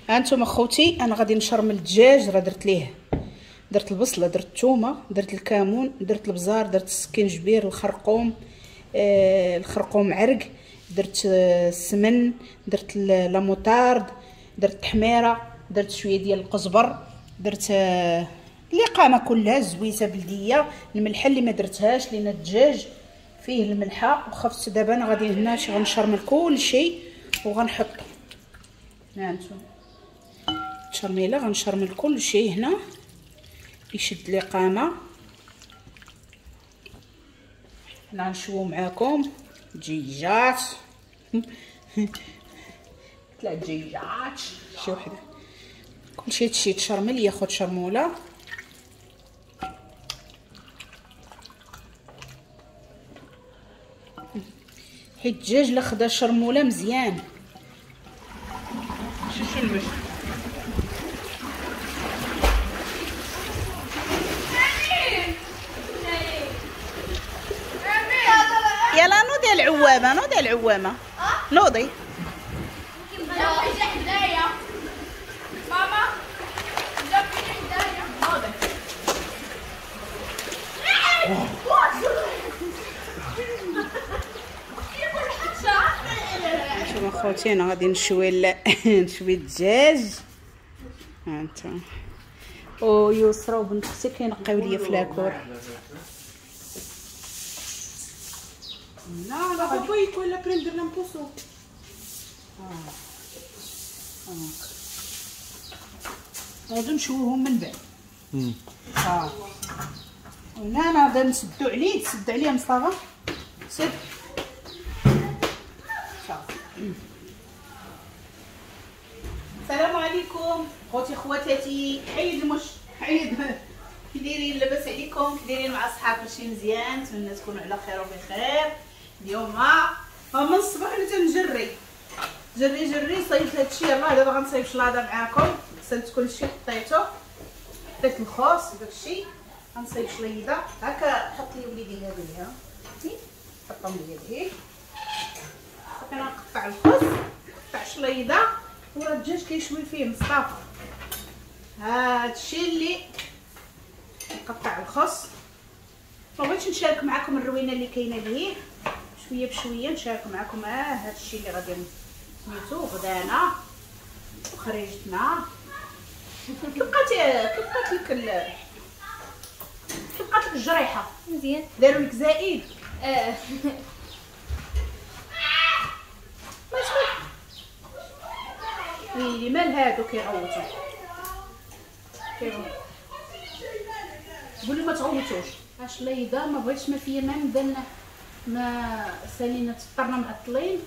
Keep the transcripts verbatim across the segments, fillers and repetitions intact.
هانتوما خوتي انا غادي نشرمل الدجاج. راه درت ليه، درت البصله، درت الثومه، درت الكمون، درت البزار، درت السكينجبير، الخرقوم، آه الخرقوم عرق، درت السمن، درت la moutarde، درت التحميره، درت شوية ديال القزبر، درت آه اللقامه كلها، الزويته بلديه، الملحة اللي ما درتهاش لان الدجاج فيه الملحة وخفت. دابا انا غادي هنا شي غنشرمل كلشي وغنحط ها انتم التشرميله، غنشرمل كلشي هنا يشد لقامه. هنا نشوو معاكم دجيجات، ثلاث دجيجات شي وحده، كلشي هادشي تشرمل ياخد شرموله. حيت الدجاج لا خدا شرموله مزيان. يلا نوضي العوامه، نوضي العوامه، نوضي. شوفوا خوتي انا غادي نشوي نشوي الدجاج. ها انتم ويسرا وبنت اختي كينقيو ليا في la cour. لا لا poi quella prenderla un po' su. غادي نشويهم من بعد. اه هنا انا غادي نسدو عليه، تسد عليه مصطفى، سد. السلام عليكم خوتي خواتاتي، حيد المش حيد. كي دايرين؟ لاباس عليكم؟ كي دايرين مع صحاب؟ كلشي مزيان؟ نتمنى تكونوا على خير وبخير. اليوم من الصباح انا تنجري جري جري، صايبت هادشي. يلاه دابا غنصايب شلاضه معاكم. غسلت كلشي، حطيته، حطيت الخوص وداكشي. غنصايب شليضه هكا. حط لي وليدي هادو ها، حطهم لي هادي. صافي انا نقطع الخوص، نقطع شليضه، وراه الدجاج كيشوي فيه مصطفى. هادشي اللي نقطع الخص. ما بغيتش نشارك معكم الروينه اللي كاينه ليه، شوية بشوية نشارك معكم. اه هادشي اللي غادي سميتو غدانا وخريجتنا. كيبقات كيبقات لك ال... كيبقات لك الجريحه مزيان، داروا لك زائد. اه ماشي ويلي مال هادو كيغوتو، كيغوتو. قولي ما تغوتوش. اش ليضه ما بغيتش، ما فيا ما نبدا ما سالينا تفطرنا معطلين،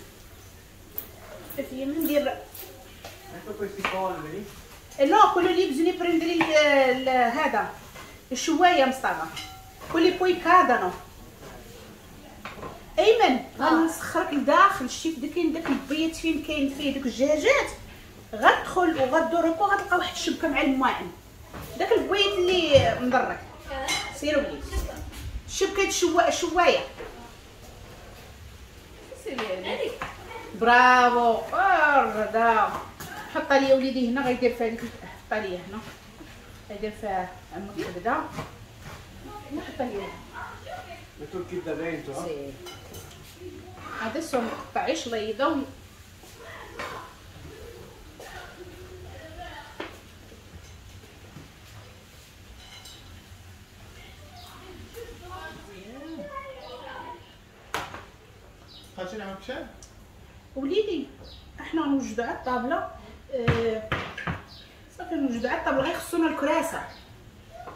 ما فيا ما ندير. no quello lì bisogna prendere هذا الشوايه مصطفى، quelli poi cadono. ايمن غنسخرك لداخل. شتي في كاين داك البيت فين كاين فيه دوك الدجاجات، غتدخل وغدور هكا وغتلقى واحد الشبكة مع الماعن، داك البيت اللي مدرك. سيروا بليز الشبكة شوا شوايه. سيري برافو الرضا. حطها لي وليدي هنا، غيدير فيها ديك، حطها لي هنا غيدير فيها عمك كبده. حطها لي هنا. هذا نقطع شليضه. وليدي احنا نوجدو على الطابله. اه صافي نوجدو على الطابله، غير خصونا الكراسة.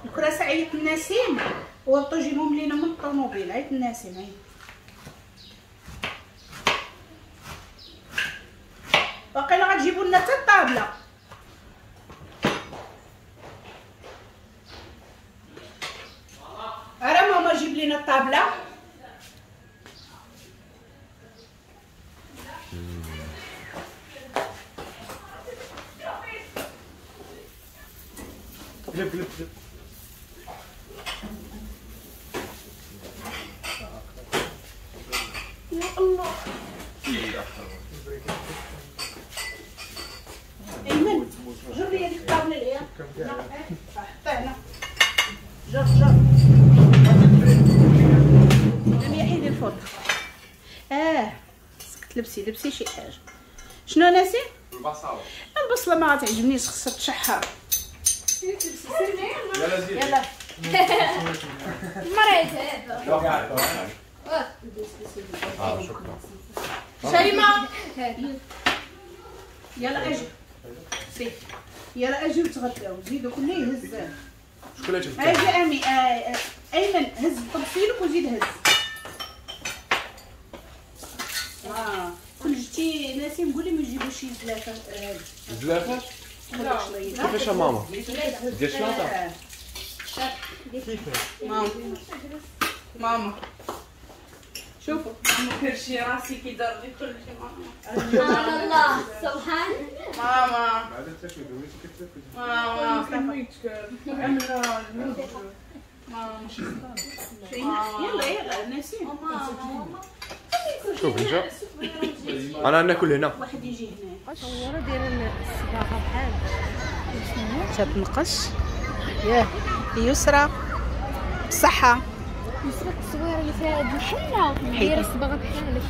الكراسة عيط النسيم وهبطو جيبهم لينا من الطوموبيل. عيط النسيم عيط. باقيلا غتجيبو لنا حتى الطابله. ارا ماما جيب لينا الطابله. قلب قلب قلب. يا الله. ايمن حطي هنا. جر جر. لم يحيد الفوط. اه خصك تلبسي لبسي شي حاجة. شنو ناسي؟ البصله. البصله ما غاتعجبنيش، خصها تشحر. يلا زيد. يلا. مريت هذا. اه شكرا. شيماء يلا اجي. سي يلا اجي وتغداو، زيدوا كله يهز. شكون اللي تهز؟ اجي امي آه ايمن هز طبسيلك وزيد هز. اه كل جيتي ناسي نقول لهم يجيبوا شي زلافه. زلافه؟ لا كيفاش يا ماما؟ ديال شلاطه؟ كيفاش؟ ماما ماما شوفوا كرشي راسي كيدار لي كلشي. ماما سبحان الله سبحان. ماما ماما ماما يلا يلا ناسي. شوف انت انا ناكل هنا. واحد يجي هنا. الصورة ديال الصباغه بحال تتنقش. ياه يسرى بصحة. يسرى التصويره اللي فيها هاد الحنة دايرة الصباغه بحالك.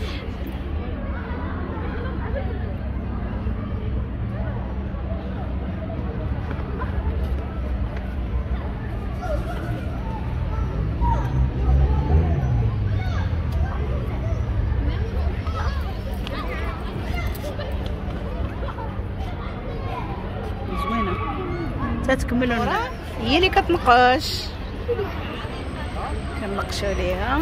زوينة تتكملوا هي اللي كتنقش، كنقشوا ليها.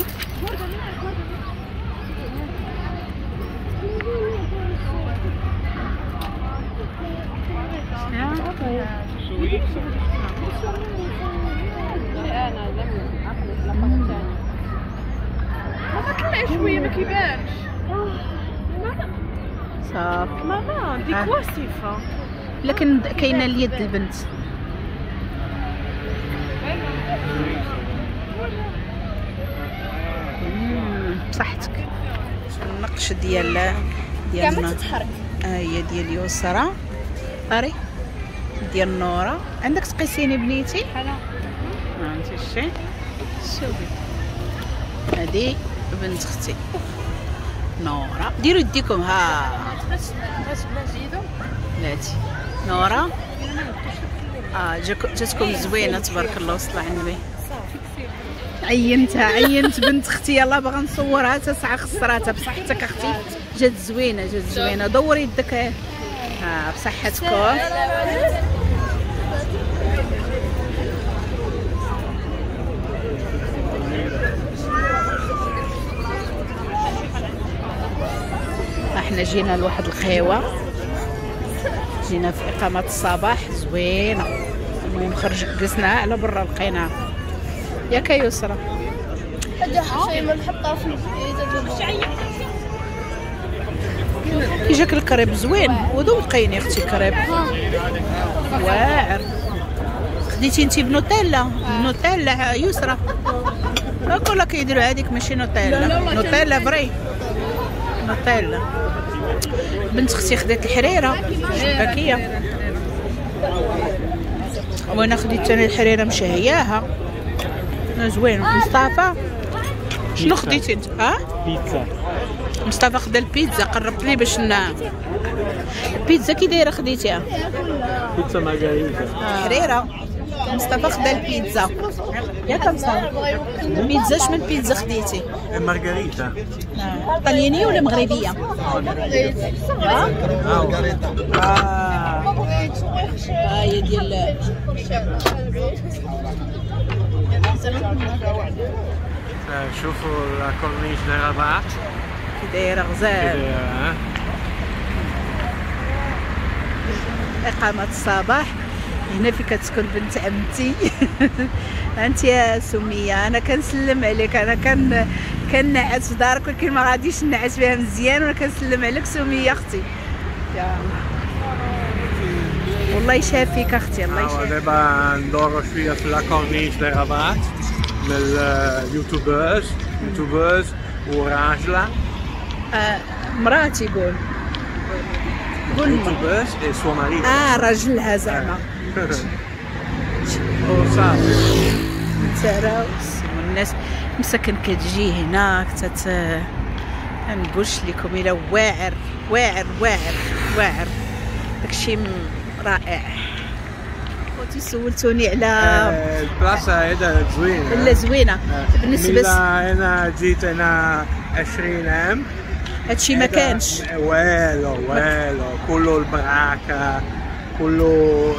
ماما طلعي شوية ما كيبانش. صافي ماما دي كوا سيفا. لكن كاينه اليد البنت. بصحتك. النقش ديال ديال ما تتحرك. ها هي ديال يسرى طاري ديال نوره. عندك تقيسيني بنيتي؟ ها انت شتي شوفي هذه بنت اختي نوره. ديروا يديكم. ها بلاتي نوره. اه جاتكم زوينة تبارك الله وصلى على النبي. عينتها عينت بنت اختي. يلا باغا نصورها حتى ساعة خسراتها. بصحتك اختي جات زوينة جات زوينة. دوري يدك. ها بصحتكم. احنا جينا لواحد القهوة، جينا في اقامه الصباح زوينة. المهم خرج جلسنا على برا لقيناها. ياك يسرى كي جاك الكريب زوين. وذوقيني اختي كريب واعر. خديتي انتي بنوتيلا؟ نوتيلا يسرى كلها كيديروا هذيك ماشي نوتيلا. نوتيلا vrai نوتيلا. بنت اختي خدات الحريره شباكيه، وانا خديت انا الحريره مشهياها زوين. مصطفى شنو خديتي انت؟ ها بيتزا. مصطفى خدا البيتزا. قربت لي باش ن البيتزا كي دايرة خديتيها؟ بيتزا مارغريتا. حريره. مصطفى خدا البيتزا. ياك مصطفى البيتزا شمن بيتزا خديتي؟ مارغريتا. طليانيه ولا مغربية؟ مارغريتا. اه هي ديال شوفوا la corniche de Rabat كي دايرة غزال. إقامة الصباح هنا في كتسكن بنت عمتي. انت يا سميه انا كنسلم عليك. انا كن كنعس في دارك ولكن ما غاديش نعس فيها مزيان، وانا كنسلم عليك سميه اختي. يا والله يشافيك اختي، الله يشافيك. دابا ندورو شوية في la corniche de Rabat من ال youtubeuse youtubeuse وراجله. آه مراتي قول قول youtubeuse et son mari. اه راجلها زعما. وصافي. نتساراو والناس مساكن كتجي هنا كتت ما نقولش لكم الا واعر واعر واعر واعر، داكشي رائع. خوتي سولتوني على البلاصة هذا زوينة. لا زوينة بالنسبة انا جيت انا عشرين عام هادشي ما كانش والو والو، كله البراكه كله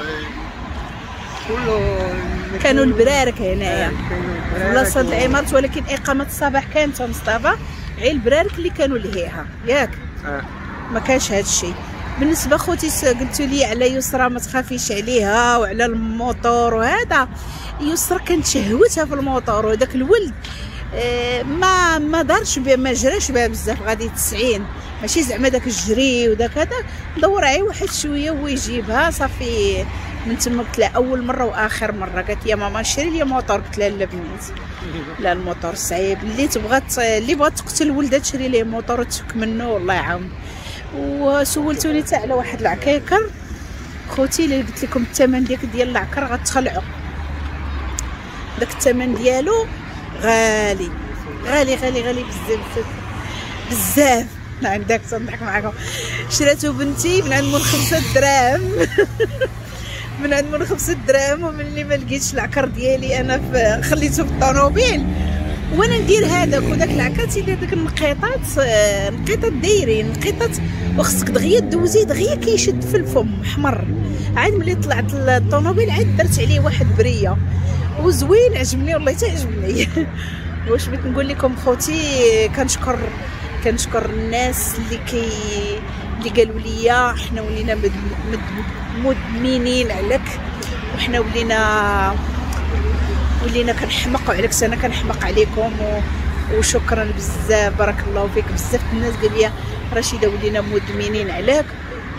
كله كانوا البرارك هنايا بلاصة العمارات، ولكن اقامه الصباح كانت مصطفى غير البرارك اللي كانوا لهيها ياك. آه. ما كانش هادشي. بالنسبة خوتي قلتوا لي على يسرى ما تخافيش عليها وعلى الموتور وهذا، يسرى كانت شهوتها في الموتور، وهذاك الولد ما ما دارش بها، ما جراش بها بزاف، غادي تسعين ماشي زعما داك الجري وداك هذا، دور عي واحد شوية ويجيبها صافي. من تما قلت لها اول مرة واخر مرة، قالت لي ماما شري لي موتور، قلت لها لا بنيتي لا الموتور صعيب، اللي تبغات اللي بغات تقتل ولدها تشري ليه موتور وتفك منه والله يعاون. وسولتوني حتى على واحد العكيكر خوتي، اللي قلت لكم الثمن ديك ديال العكر غتخلعوا، داك الثمن ديالو غالي غالي غالي غالي بزاف بزاف. نعم داك تنضحك معاكم، شراتو بنتي من عند مول خمسة دراهم من عند مول خمسة دراهم، وملي ما لقيتش العكر ديالي انا في خليته في الطوموبيل وانا ندير هذاك، وداك العكر تيدير داك النقيطات، نقيطات دايرين نقيطات، وخصك دغيا دوزي دغيا كيشد في الفم حمر. عاد ملي طلعت الطوموبيل عاد درت عليه واحد برية وزوين، عجبني والله حتى عجبني. واش بغيت نقول لكم خوتي، كنشكر كنشكر الناس اللي كي اللي قالوا لي حنا ولينا مدمنين عليك، وحنا ولينا ولينا كنحمقوا عليك، انا كنحمق عليكم و... وشكرا بزاف، بارك الله فيك. بزاف الناس قال لي رشيده ولينا مدمنين عليك،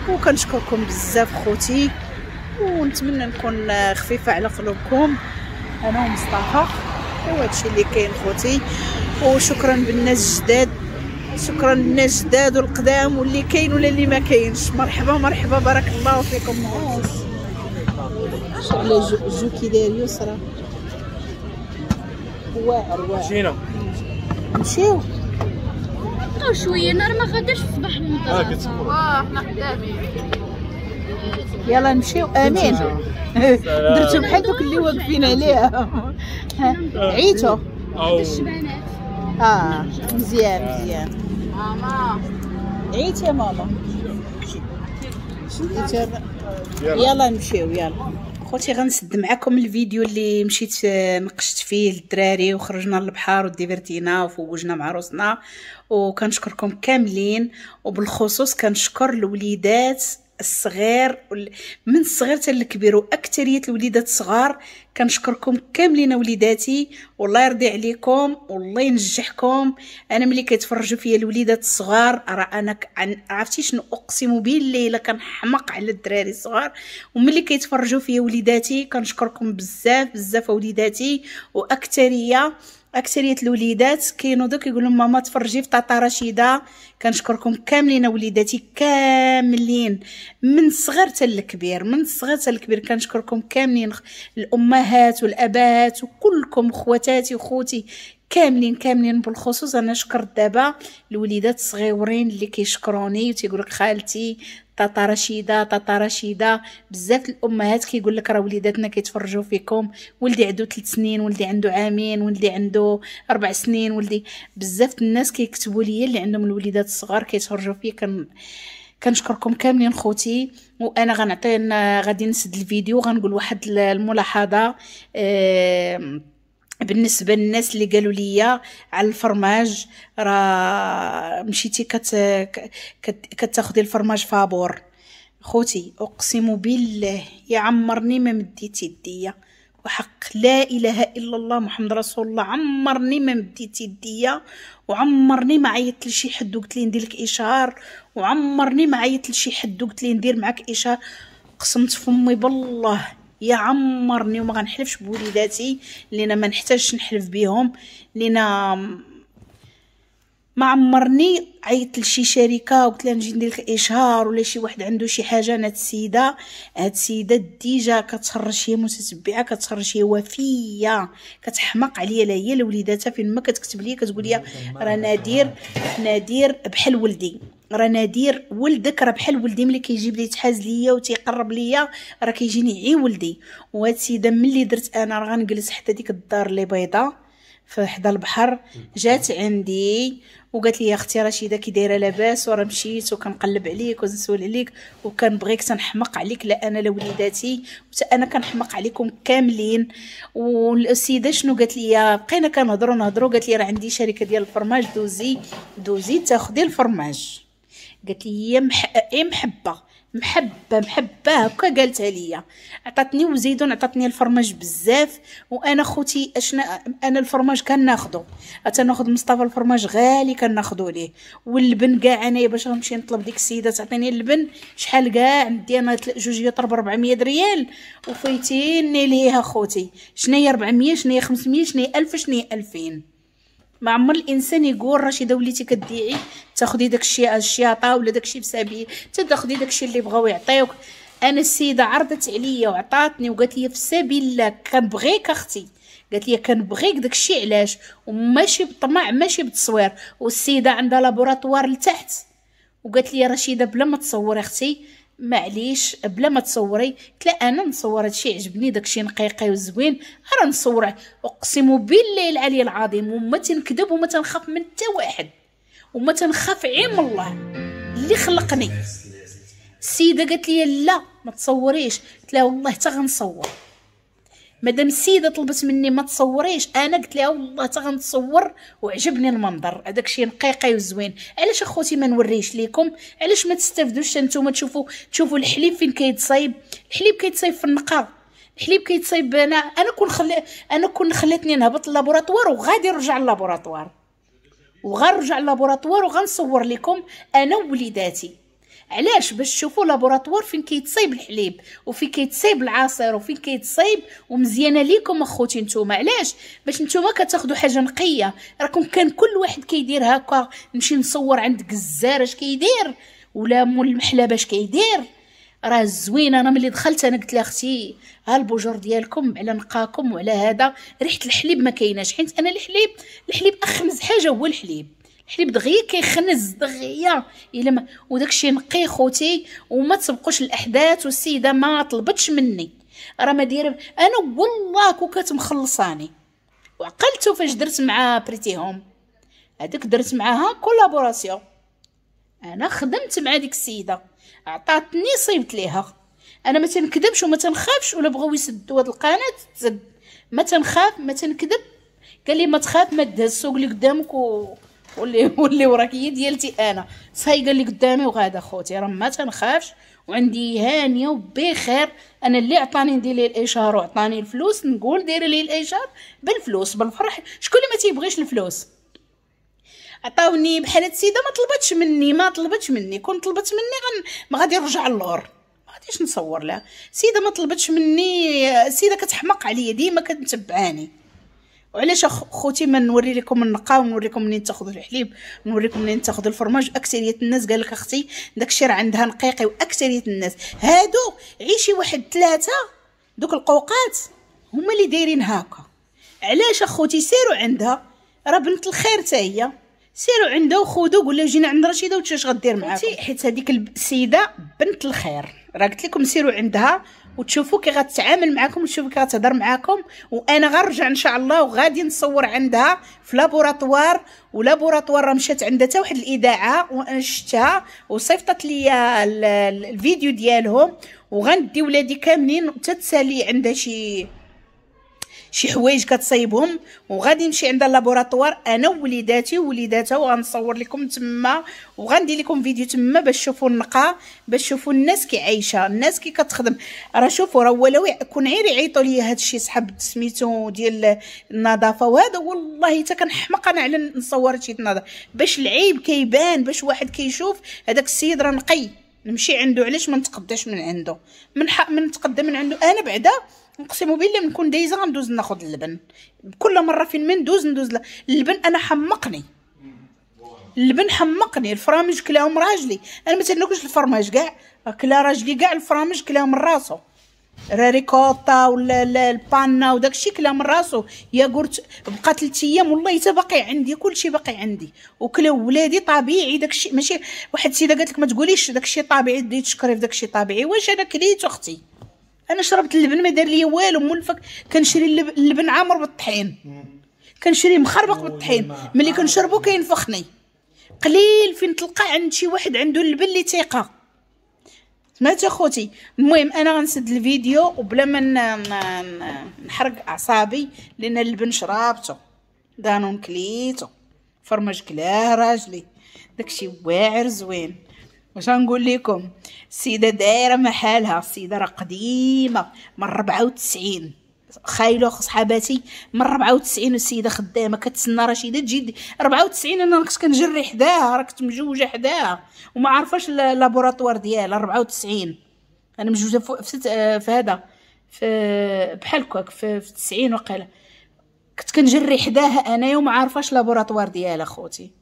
وكنشكركم بزاف خوتي، ونتمنى نكون خفيفة على قلوبكم انا ومصطفى، وهادشي اللي كاين خوتي. وشكرا بالناس الجداد، شكرا للناس الجداد والقدام واللي كاين ولا اللي ما كاينش، مرحبا مرحبا بارك الله فيكم. على جو, جو كي داير يسرى واعر واعر. مشينا نمشيو نبقاو شوية، انا راه ما غاداش الصباح للمدرسة. واه حنا خدامين، يلا نمشيو. امين درتو بحال دوك اللي واقفين عليها عيتو الشبانات. اه مزيان مزيان. ماما عيت يا ماما، يلا نمشيو. يلا خوتي غنسد معكم الفيديو اللي مشيت نقشت فيه للدراري وخرجنا للبحر وديفرتينا وفوجنا مع روسنا، وكنشكركم كاملين، وبالخصوص كنشكر الوليدات الصغير من الصغير حتى الكبير، واكثريه الوليدات الصغار. كنشكركم كاملين وليداتي، والله يرضي عليكم والله ينجحكم. انا ملي كيتفرجوا فيا الوليدات الصغار راه انا عرفتي شنو، اقسم بالله الا كنحمق على الدراري الصغار، وملي كيتفرجوا فيا وليداتي كنشكركم بزاف بزاف وليداتي. واكثريه اكثرية الوليدات كينوضوا كيقولوا ماما تفرجي في طاطا رشيده. كنشكركم كاملين وليداتي كاملين من الصغير حتى الكبير، من الصغير حتى الكبير كنشكركم كاملين، الامهات والابات وكلكم خواتاتي وخوتي كاملين كاملين. بالخصوص انا شكرت دابا الوليدات الصغيورين اللي كيشكروني وتيقول لك خالتي طاطا رشيده طاطا رشيده. بزاف الامهات كيقول لك راه وليداتنا كيتفرجوا فيكم، ولدي عنده ثلاث سنين، ولدي عنده عامين، ولدي عنده اربع سنين، ولدي. بزاف الناس كيكتبوا لي اللي عندهم الوليدات الصغار كيتفرجوا فيا. كن كنشكركم كاملين خوتي. وانا غنعطي غادي نسد الفيديو، غنقول واحد الملاحظة أه بالنسبة للناس اللي قالوا لي على الفرماج، راه مشيتي كت كتاخدي الفرماج فابور. خوتي اقسم بالله يا عمرني ما مديت يديا، وحق لا اله الا الله محمد رسول الله، عمرني ما مديت يديا، وعمرني ما عيطت لشي حد وقلت لي ندير لك اشهار، وعمرني ما عيطت لشي حد وقلت لي ندير معاك اشهار. قسمت فمي بالله يا عمرني، وما غنحلفش بوليداتي لأن ما نحتاجش نحلف بيهم، لأن ما عمرني عيطت لشي شركة وقلت لها نجي ندير لك اشهار ولا شي واحد عنده شي حاجة. انا هاد السيدة هاد السيدة déjà كتخرج هي متتبعه، كتخرج هي وفيه، كتحماق عليا لا هي لا وليداتها. فين ما كتكتب لي كتقول لي راه نادر نادر بحال ولدي، راه نادر ولدك راه بحال ولدي، ملي كيجيب لي تحاز ليا وتيقرب ليا راه كيجيني عي ولدي. وهاد السيدة ملي درت انا راه غنجلس حتى ديك الدار اللي بيضة في حدا البحر، جات عندي وقالت لي يا اختي رشيده كي دايرة لاباس، وراه مشيت وكنقلب عليك ونسول عليك وكنبغيك تنحمق عليك، لا انا لا وليداتي وتا انا كنحمق عليكم كاملين. والسيدة شنو قالت لي، بقينا كنهضروا نهضروا، قالت لي راه عندي شركة ديال الفرماج، دوزي دوزي تاخدي الفرماج. قالت لي هي مح... محبة محبة محبة هكا قالتها ليا، عطاتني وزيدون عطاتني الفرماج بزاف. وانا خوتي اشنا انا الفرماج كناخذو، تناخذ مصطفى الفرماج غالي كناخذو ليه، واللبن كاع انايا باش غنمشي نطلب ديك السيدة تعطيني اللبن شحال كاع ندي انا جوج يطر ب أربعمية ريال وفايتيني ليها خوتي. شناهي أربعمية، شناهي خمسمية، شناهي ألف، شناهي ألفين. ما عمر الانسان يقول رشيده وليتي كديعي تاخدي داكشي الشياطه ولا داكشي بسبيل، تاخدي داكشي اللي بغاو يعطيوك. انا السيدة عرضت عليا وعطاتني وقالت لي في سبيل الله كنبغيك اختي، قالت لي كنبغيك داكشي علاش، وماشي بالطمع ماشي بالتصوير. والسيدة عندها laboratoire لتحت، وقالت لي رشيده بلا ما تصوري اختي معليش بلا ما تصوري. قلت لها انا نصور هادشي عجبني داكشي نقيقي وزوين راه نصور، اقسم بالله العلي العظيم وما تنكذب وما تنخاف من حتى واحد وما تنخاف عين الله اللي خلقني. السيدة قالت لي لا ما تصوريش، قلت لها والله حتى غنصور، مادام السيدة طلبت مني ما تصوريش انا قلت لها والله حتى غنتصور، وعجبني المنظر هذاك الشيء نقيقي وزوين. علاش اخوتي ما نوريش ليكم؟ علاش ما تستافدوش نتوما تشوفوا تشوفوا الحليب فين كيتصايب؟ الحليب كيتصايب في النقا، الحليب كيتصايب. انا انا كون خلي انا كون خلاتني نهبط ال laboratoire وغادي نرجع لل laboratoire وغنرجع لل laboratoire وغنصور لكم انا ووليداتي. علاش؟ باش تشوفوا laboratoire فين كيتصايب الحليب وفين كيتصايب العصير وفين كيتصايب، ومزيانه ليكم اخوتي نتوما. علاش؟ باش نتوما كتاخذوا حاجة نقية. راكم كان كل واحد كيدير هكا، نمشي نصور عند كزار اش كيدير ولا مول المحلبه اش كيدير، راه زوين. انا ملي دخلت انا قلت لها اختي ها البوجور ديالكم على نقاكم وعلى هذا، ريحه الحليب ما كايناش، حيت انا الحليب الحليب اخنز حاجة هو الحليب، الحليب دغيا كيخنز دغيا الا ما، وداكشي نقي خوتي وما تسبقوش الاحداث. والسيدة ما طلبتش مني راه ما دايرة انا والله كو كانت مخلصاني. وعقلتو فاش درت مع بريتيهم هذيك درت معاها collaboration، انا خدمت مع ديك السيدة عطاتني صيبت ليها. انا ما تنكذبش وما تنخافش، ولا بغاو يسدوا هاد القناة تسد، ما تنخاف ما تنكذب. قال لي ما تخاف ما تهز السوق اللي قدامك و واللي واللي وراك هي ديالتي انا، سايقه اللي قدامي وغاده خوتي راه ما تنخافش وعندي هانيه وبخير. انا اللي عطاني ندير ليه الاشهار وعطاني الفلوس نقول ديري ليه الاشهار بالفلوس بالفرح. شكون اللي ما تيبغيش الفلوس؟ عطاوني بحال هاد السيدة ما طلبتش مني ما طلبتش مني، كون طلبت مني غن ما غادي نرجع للور ما غاديش نصور لها. السيدة ما طلبتش مني، السيدة كتحمق عليا ديما كتتبعاني. وعلاش اخوتي ما نوري لكم النقا ونوريكم منين تاخذوا الحليب ونوريكم منين تاخذوا الفرماج؟ اكثرية الناس قال لك اختي داكشي راه عندها نقيقي، واكثريه الناس هادو عيشي واحد ثلاثة دوك القوقات هما اللي دايرين هكا. علاش اخوتي؟ سيروا عندها راه بنت الخير حتى هي، سيروا عندها وخذوا قول لها جينا عند رشيده وتشاش غدير معاكم، حيت هذيك السيدة بنت الخير راه قلت لكم سيروا عندها وتشوفوا كي غتعامل معاكم وتشوفوا كي غتهضر معاكم. وانا غنرجع ان شاء الله وغادي نصور عندها في laboratoire، و laboratoire راه مشات عندها حتى واحد الاذاعة وانا شفتها وصيفطت لي الفيديو ديالهم، وغندي ولادي كاملين حتى تسالي عندها شي شي حوايج كتصايبهم، وغادي نمشي عند ال laboratoire انا ووليداتي ووليداتها وغنصور لكم تما وغندير لكم فيديو تما باش تشوفوا النقا، باش تشوفوا الناس كي عايشه، الناس كي كتخدم. راه شوفوا راه ولو كون غير يعيطوا لي هذا الشيء صحاب سميتو ديال النظافة وهذا، والله حتى كنحمق انا على نصور هادشي النظافة باش العيب كيبان، باش واحد كيشوف هذاك السيد راه نقي نمشي عنده. علاش ما نتقداش من عنده؟ من حق من نتقدى من عنده انا بعدا نقسم بالله نكون دايزه غندوز ناخذ اللبن كل مرة فين ما ندوز ندوز اللبن. انا حمقني اللبن حمقني، الفرامج كلاهم راجلي، انا ما تناكلش الفرماج كاع، كلا راجلي كاع الفرامج كلاهم من راسو، راه ريكوتا ولا البانا وداكشي كلا من راسو، ياغورت بقى ثلاث ايام والله حتى باقي عندي، كلشي باقي عندي، وكلاو ولادي طبيعي داكشي. ماشي واحد السيدة قالت لك ما تقوليش داكشي طبيعي، بديت تشكري في داكشي طبيعي، واش انا كليت اختي؟ انا شربت اللبن ما دار لي والو، مولفك كنشري اللبن عامر بالطحين، كنشري مخربق بالطحين، ملي كنشربو كينفخني. قليل فين تلقى عند شي واحد عنده اللبن اللي ثقة. سمعتي اخوتي؟ المهم انا غنسد الفيديو وبلا ما نحرق اعصابي، لان اللبن شرابته، دانون كليتو، فرماج كلاه راجلي، داكشي واعر زوين. واش غنقول لكم، السيدة دايرة محالها، السيدة راه قديمة من ربعة وتسعين، خايلو صحاباتي من ربعة وتسعين والسيدة خدامه كتسنى رشيده تجي ربعة وتسعين. انا كنت كنجري حداها، راه كنت مجوجه حداها وما عارفاش laboratoire ديالها. ربعة وتسعين انا مجوجه في, في هذا في بحال هكاك في, في تسعين وقيله، كنت كنجري حداها انايا وما عارفاش laboratoire ديالها. خوتي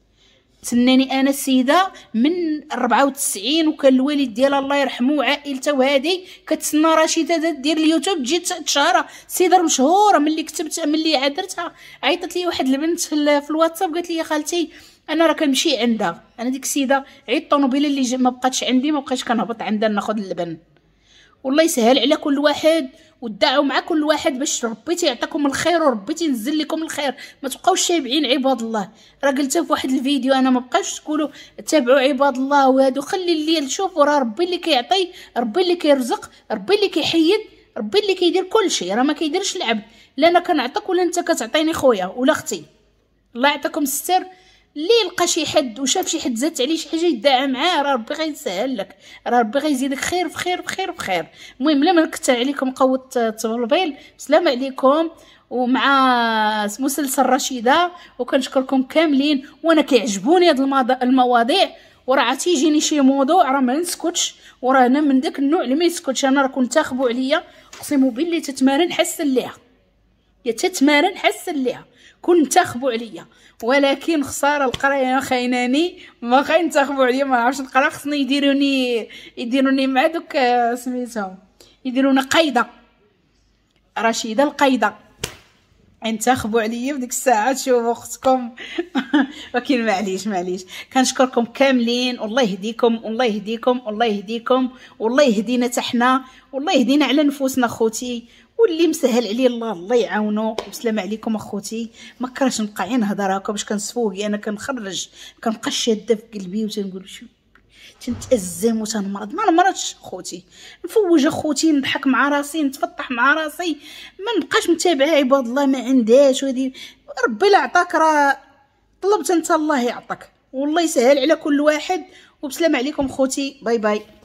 تسناني انا السيدة من ربعة وتسعين، وكان الوالد ديالها الله يرحمه وعائلته وهادي كتسنى رشيده دير اليوتيوب تجي تشهرها. السيدة مشهورة، ملي كتبت ملي عادرتها عيطت لي واحد البنت في الواتساب قالت لي يا خالتي انا راه كنمشي عندها. انا ديك السيدة عيط الطوموبيله اللي ما بقاتش عندي، ما بقيتش كنهبط عندها ناخذ اللبن. والله يسهل على كل واحد، ودعوا مع كل واحد باش ربي تيعطيكم الخير وربي تينزل لكم الخير. ما تبقاوش شابعين عباد الله. راه قلتها في واحد الفيديو، انا ما بقاش تقولوا تابعوا عباد الله وهادو، خلي الليل شوفوا راه ربي اللي كيعطي، ربي اللي كيرزق، ربي اللي كيحيد، ربي اللي كيدير كل شيء. راه ما كيديرش العبد، لا انا كنعطيك ولا انت كتعطيني خويا ولا اختي. الله يعطيكم الستر. اللي لقى شي حد وشاف شي حد زادت عليه شي حاجة يدعى معاه، راه ربي غيسهل لك، راه ربي غيزيدك خير في خير في خير في خير. المهم لا ما نكثر عليكم قوة التبلبيل، السلام عليكم. ومع مسلسل رشيده، وكنشكركم كاملين. وانا كيعجبوني هاد المواضيع، وراه تيجيني شي موضوع راه ما نسكتش، وراه انا من داك النوع اللي ما يسكتش. انا راه كنت تاخبوا عليا، اقسم بالله تتمارن حسن ليها، يا تتمارن حسن ليها، كون تاخبوا عليا. ولكن خسارة القراية خايناني، ما خاين تاخبوا عليا، ما نعرفش نقرا، خصني يديروني يديروني مع دوك سميتهم، يديروني قايدة رشيده القايده، انتخبوا عليا في ديك الساعة تشوفوا اختكم. ولكن معليش معليش، كنشكركم كاملين، والله يهديكم، والله يهديكم، والله يهديكم، والله يهدينا حتى حنا، والله يهدينا على نفوسنا خوتي. واللي مسهل عليه الله الله يعاونو. والسلام عليكم اخوتي. ما كرهتش نبقى غير نهضر هكا باش كنسفوقي، انا كنخرج كنبقى شاده في قلبي وتنقول شو تنتأزم وتنمرض. ما نمرضش خوتي، نفوج اخوتي، نضحك مع راسي، نتفطح مع راسي، ما نبقاش متابعه عباد الله ما عندهاش. وهادي ربي لا عطاك راه طلبت انت الله يعطاك، والله يسهل على كل واحد. وبسلام عليكم خوتي، bye bye.